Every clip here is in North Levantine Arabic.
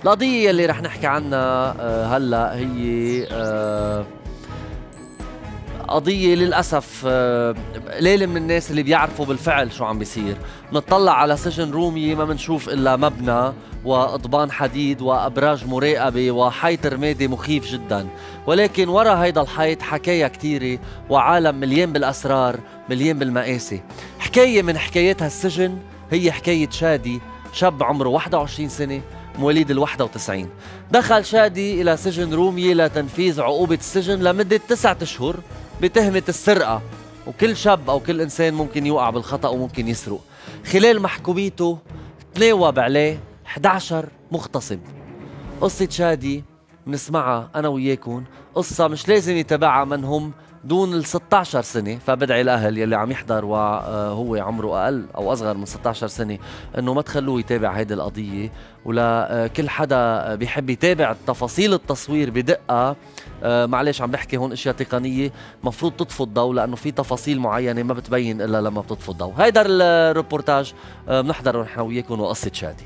القضية اللي رح نحكي عنها هلأ هي قضية للأسف قليل من الناس اللي بيعرفوا بالفعل شو عم بيصير. نطلع على سجن رومي ما منشوف إلا مبنى وأضبان حديد وأبراج مراقبة وحيط رمادي مخيف جدا، ولكن ورا هيدا الحيط حكاية كتيرة وعالم مليان بالأسرار مليان بالمآسي. حكاية من حكايات هالسجن هي حكاية شادي، شاب عمره 21 سنة مواليد ال91. دخل شادي إلى سجن رومية لتنفيذ عقوبة السجن لمدة 9 أشهر بتهمة السرقة، وكل شاب أو كل إنسان ممكن يوقع بالخطأ وممكن يسرق. خلال محكوميته تناوب عليه 11 مغتصب. قصة شادي بنسمعها أنا وياكم، قصة مش لازم يتابعها من هم دون ال 16 سنة، فبدعي الأهل يلي عم يحضر وهو عمره أقل أو أصغر من 16 سنة إنه ما تخلوه يتابع هيدي القضية. ولا كل حدا بيحب يتابع تفاصيل التصوير بدقة، معلش عم بحكي هون اشياء تقنية مفروض تطفوا الضوء، لأنه في تفاصيل معينة ما بتبين إلا لما بتطفوا الضوء. هيدا الريبورتاج بنحضره نحن وياكم وقصة شادي.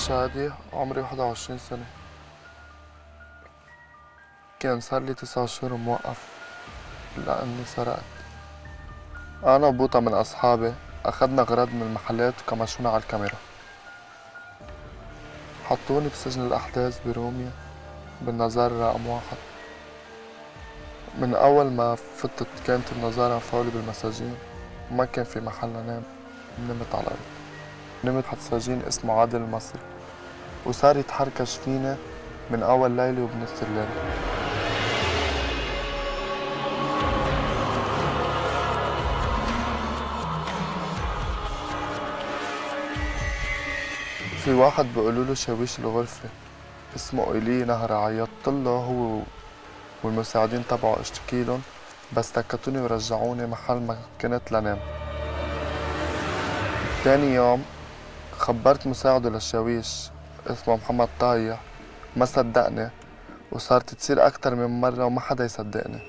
شادي، عمري 21 سنة. كان صار لي 9 شهور موقف لأني سرقت. أنا وبوطة من أصحابي أخدنا غراض من المحلات وكمشونا على الكاميرا. حطوني بسجن الأحداث برومية بالنظارة رقم 1. من أول ما فتت كانت النظارة مفعولة بالمساجين وما كان في محل نام. نمت على الأرض. نمت حد سجين اسمه عادل المصري، وصار يتحركش فينا من أول ليلة وبنص الليل. في واحد بيقولوله شاويش الغرفة اسمه إيلي نهر، عيطتله هو والمساعدين تبعه اشتكيلن، بس سكتوني ورجعوني محل ما كنت لنام. تاني يوم خبرت مساعده للشاويش اسمه محمد طايح، ما صدقني وصارت تصير أكتر من مرة وما حدا يصدقني.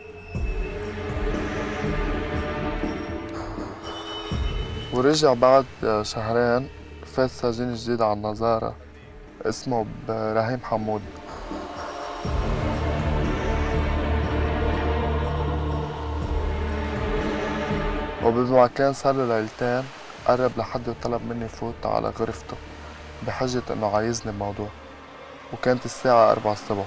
ورجع بعد شهرين فات سجين جديد على النظارة اسمه رهيم حمود. وبالمكان صار له ليلتين قرب لحد وطلب مني فوت على غرفته بحجة انه عايزني بموضوع، وكانت الساعة 4 الصبح.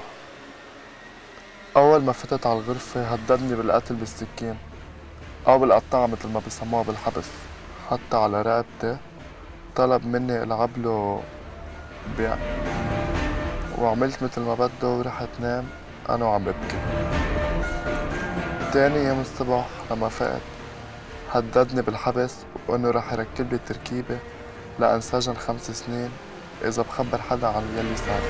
أول ما فتت على الغرفة هددني بالقتل بالسكين أو بالقطاعة مثل ما بيسموها بالحبس، حتى على رقبتي طلب مني ألعب له بيع، وعملت مثل ما بده ورحت نام أنا وعم ببكي. تاني يوم الصبح لما فقت هددني بالحبس وإنه رح يركب لي تركيبة لأنسجن 5 سنين إذا بخبر حدا عن يلي صار.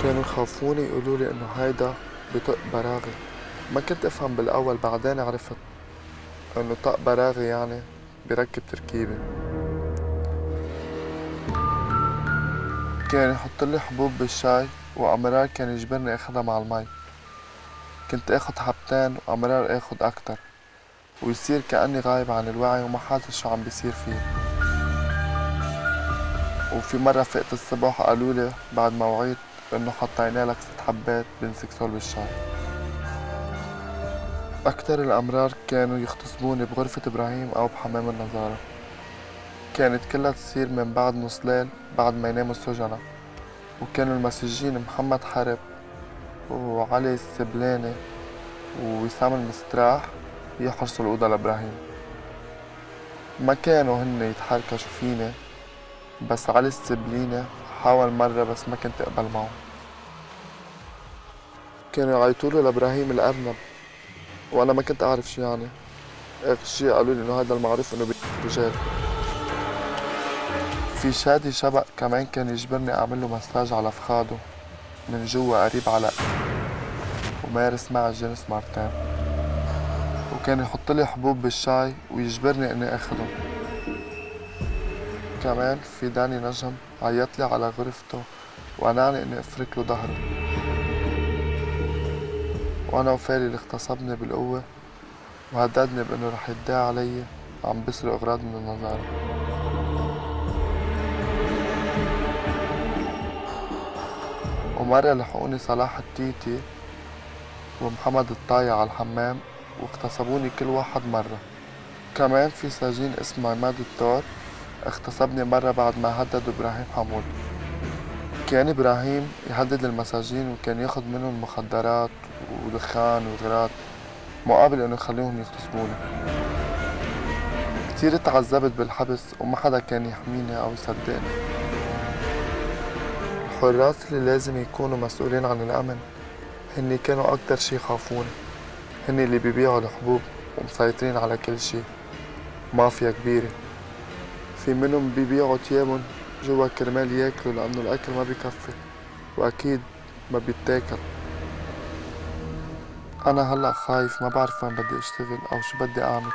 كانوا يخافوني يقولوا لي إنه هيدا بطق براغي. ما كنت أفهم بالأول، بعدين عرفت إنه طق براغي يعني بركب تركيبة. كان يحط لي حبوب بالشاي وأمرار كان يجبرني أخدها مع المي. كنت أخد حبتين وأمرار أخد أكتر، ويصير كأني غايب عن الوعي وما حاسس شو عم بيصير فيه. وفي مرة فقت الصبح قالولي بعد ما وعيت إنه حطينا لك 6 حبات بنسكسول بالشاي. أكتر الأمرار كانوا يغتصبوني بغرفة إبراهيم أو بحمام النظارة. كانت كلها تصير من بعد نص ليل بعد ما يناموا السجناء، وكانوا المسجين محمد حرب وعلي السبلاني ووسام المستراح يحرسوا الأوضة لإبراهيم. ما كانوا هن يتحركشوا فيني بس علي السبلينة حاول مرة بس ما كنت أقبل معه. كانوا يعيطولي لإبراهيم الأرنب وأنا ما كنت أعرف شو يعني. آخر شي قالوا لي إنه هذا المعروف إنه رجال. في شادي شبق كمان كان يجبرني أعمل له مساج على فخاده من جوا قريب على ومارس معي الجنس مرتين، وكان يحط لي حبوب بالشاي ويجبرني إني آخذهم. كمان في داني نجم عيط لي على غرفته وقنعني إني أفرك له ظهره، وأنا وفالي اللي اغتصبني بالقوة وهددني بإنه رح يدعي علي عم بسرق أغراض من النظارة. ومرة لحقوني صلاح التيتي ومحمد الطايع على الحمام واغتصبوني كل واحد مرة. كمان في سجين اسمه عماد الطار اغتصبني مرة بعد ما هدد إبراهيم حمود. كان إبراهيم يهدد المساجين وكان ياخد منهم مخدرات ودخان وغراض مقابل إنه يخليهم يغتصبوني. كتير تعذبت بالحبس وما حدا كان يحميني أو يصدقني. الحراس اللي لازم يكونوا مسؤولين عن الأمن هني كانوا أكتر شي يخافوني. هني اللي بيبيعوا الحبوب ومسيطرين على كل شي، مافيا كبيرة. في منهم بيبيعوا تيابن جوا كرمال ياكلوا لأنه الأكل ما بيكفي وأكيد ما بيتاكل. أنا هلأ خايف، ما بعرف وين بدي أشتغل أو شو بدي أعمل.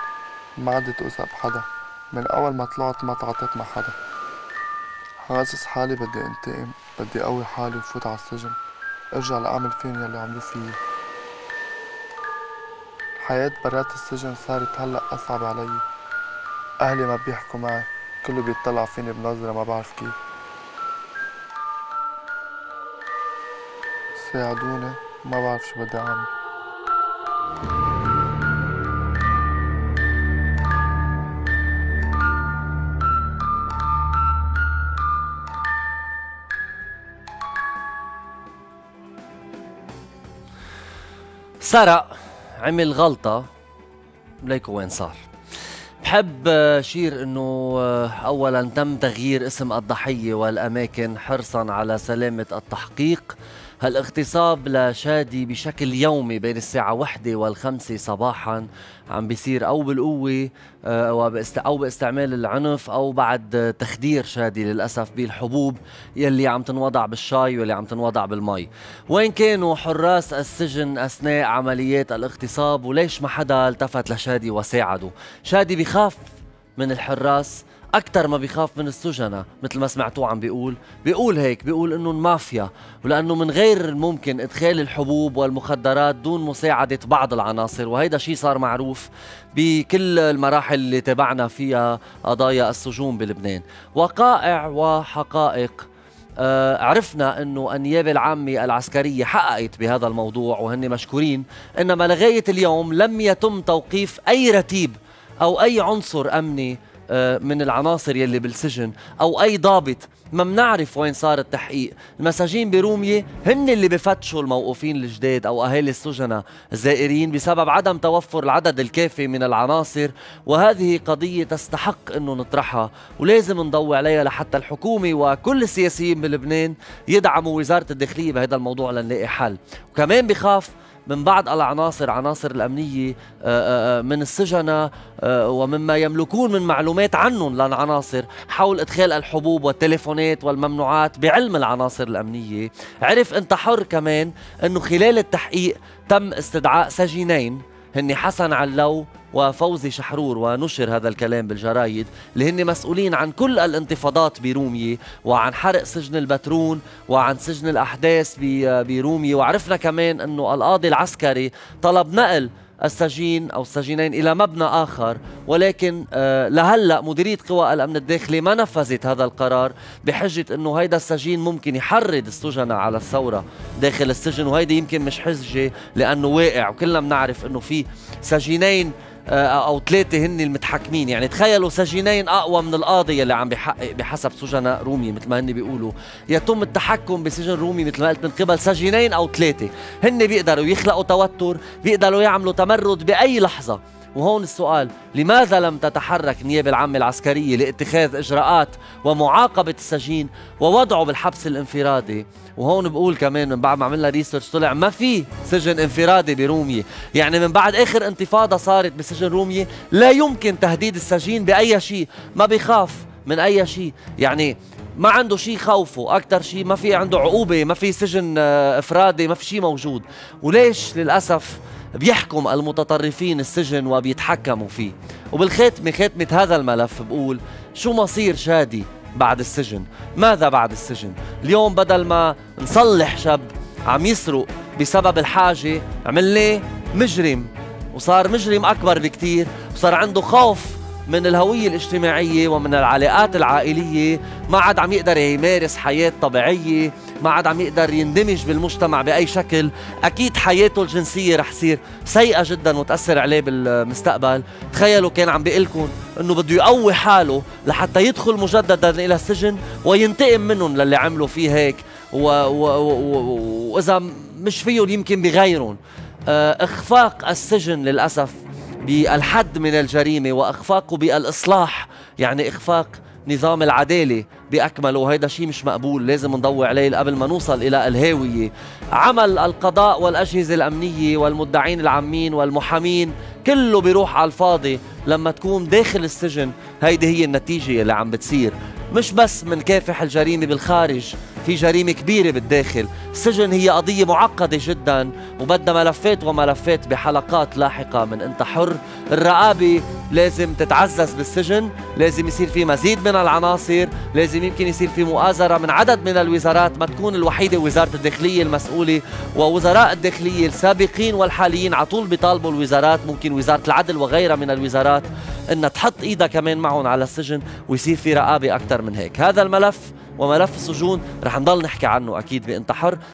ما عدت أوثق بحدا، من أول ما طلعت ما تعاطيت مع حدا. حاسس حالي بدي انتقم، بدي قوي حالي وفوت على السجن، ارجع لأعمل فيهم يلي عملوه فيي. الحياة برات السجن صارت هلأ أصعب علي. أهلي ما بيحكوا معي، كله بيطلع فيني بنظرة ما بعرف كيف. ساعدوني، ما بعرف شو بدي أعمل. سرق، عمل غلطة، ليكو وين صار. بحب شير انه اولا تم تغيير اسم الضحية والاماكن حرصا على سلامة التحقيق. هالاغتصاب لشادي بشكل يومي بين الساعة 1 و5 صباحا عم بيصير او بالقوة او باستعمال العنف او بعد تخدير شادي للأسف بالحبوب يلي عم تنوضع بالشاي واللي عم تنوضع بالمي. وين كانوا حراس السجن اثناء عمليات الاغتصاب وليش ما حدا التفت لشادي وساعده؟ شادي بيخاف من الحراس أكتر ما بيخاف من السجناء، مثل ما سمعتوه عم بيقول هيك، بيقول إنه المافيا، ولأنه من غير الممكن إدخال الحبوب والمخدرات دون مساعدة بعض العناصر، وهيدا شيء صار معروف بكل المراحل اللي تابعنا فيها قضايا السجون بلبنان. وقائع وحقائق عرفنا انه النيابة العامة العسكرية حققت بهذا الموضوع وهن مشكورين، انما لغاية اليوم لم يتم توقيف اي رتيب او اي عنصر امني من العناصر يلي بالسجن او اي ضابط. ما بنعرف وين صار التحقيق. المساجين برومية هن اللي بفتشوا الموقوفين الجداد او اهالي السجناء الزائرين بسبب عدم توفر العدد الكافي من العناصر، وهذه قضية تستحق انه نطرحها ولازم نضوي عليها لحتى الحكومة وكل السياسيين بلبنان يدعموا وزارة الداخلية بهذا الموضوع لنلاقي حل. وكمان بخاف من بعض العناصر، عناصر الأمنية من السجناء ومما يملكون من معلومات عنهم للعناصر حول إدخال الحبوب والتليفونات والممنوعات بعلم العناصر الأمنية. عرف أنت حر كمان أنه خلال التحقيق تم استدعاء سجينين هن حسن علو وفوزي شحرور، ونشر هذا الكلام بالجرايد، اللي هن مسؤولين عن كل الانتفاضات برومية وعن حرق سجن البترون وعن سجن الأحداث برومية. وعرفنا كمان أنه القاضي العسكري طلب نقل السجين أو السجينين إلى مبنى آخر، ولكن لهلأ مديرية قوى الأمن الداخلي ما نفذت هذا القرار بحجة أنه هيدا السجين ممكن يحرض السجناء على الثورة داخل السجن، وهيدا يمكن مش حجة لأنه واقع. وكلنا بنعرف أنه في سجينين أو 3 هن المتحكمين، يعني تخيلوا سجينين أقوى من القاضي اللي عم بيحقق بحسب سجناء رومي مثل ما هن بيقولوا. يتم التحكم بسجن رومي مثل ما قلت من قبل سجينين أو 3 هن بيقدروا يخلقوا توتر، بيقدروا يعملوا تمرد بأي لحظة. وهون السؤال: لماذا لم تتحرك النيابة العامة العسكرية لاتخاذ إجراءات ومعاقبة السجين ووضعه بالحبس الانفرادي؟ وهون بقول كمان من بعد ما عملنا ريسيرش طلع ما في سجن انفرادي برومية. يعني من بعد آخر انتفاضة صارت بسجن رومية لا يمكن تهديد السجين بأي شيء، ما بيخاف من أي شيء، يعني ما عنده شيء خوفه. أكتر شيء ما في عنده عقوبة، ما في سجن إفرادي، ما في شيء موجود. وليش للأسف بيحكم المتطرفين السجن وبيتحكموا فيه؟ خاتمة هذا الملف بقول: شو مصير شادي بعد السجن؟ ماذا بعد السجن؟ اليوم بدل ما نصلح شاب عم يسرق بسبب الحاجة عملناه مجرم، وصار مجرم أكبر بكتير، وصار عنده خوف من الهوية الاجتماعية ومن العلاقات العائلية، ما عاد عم يقدر يمارس حياة طبيعية، ما عاد عم يقدر يندمج بالمجتمع بأي شكل. أكيد حياته الجنسية رح تصير سيئة جدا وتأثر عليه بالمستقبل. تخيلوا كان عم بيقلكن أنه بده يقوي حاله لحتى يدخل مجددا إلى السجن وينتقم منهم للي عملوا فيه هيك، وإذا مش فيهم يمكن بغيرهم. إخفاق السجن للأسف بالحد من الجريمة وإخفاقه بالإصلاح، يعني إخفاق نظام العدالة بأكمله، وهيدا شيء مش مقبول، لازم نضوي عليه قبل ما نوصل إلى الهاوية. عمل القضاء والأجهزة الأمنية والمدعين العامين والمحامين كله بيروح على الفاضي لما تكون داخل السجن. هيدي هي النتيجة اللي عم بتصير. مش بس منكافح الجريمة بالخارج، في جريمة كبيرة بالداخل. السجن هي قضية معقدة جدا وبدها ملفات وملفات بحلقات لاحقة من انت حر. الرقابة لازم تتعزز بالسجن، لازم يصير في مزيد من العناصر، لازم يمكن يصير في مؤازرة من عدد من الوزارات، ما تكون الوحيدة وزارة الداخلية المسؤولة. ووزراء الداخلية السابقين والحاليين عطول بيطالبوا الوزارات، ممكن وزارة العدل وغيرها من الوزارات، انها تحط ايدها كمان معهم على السجن ويصير في رقابة اكثر من هيك. هذا الملف وملف السجون رح نضل نحكي عنه اكيد بانت حر.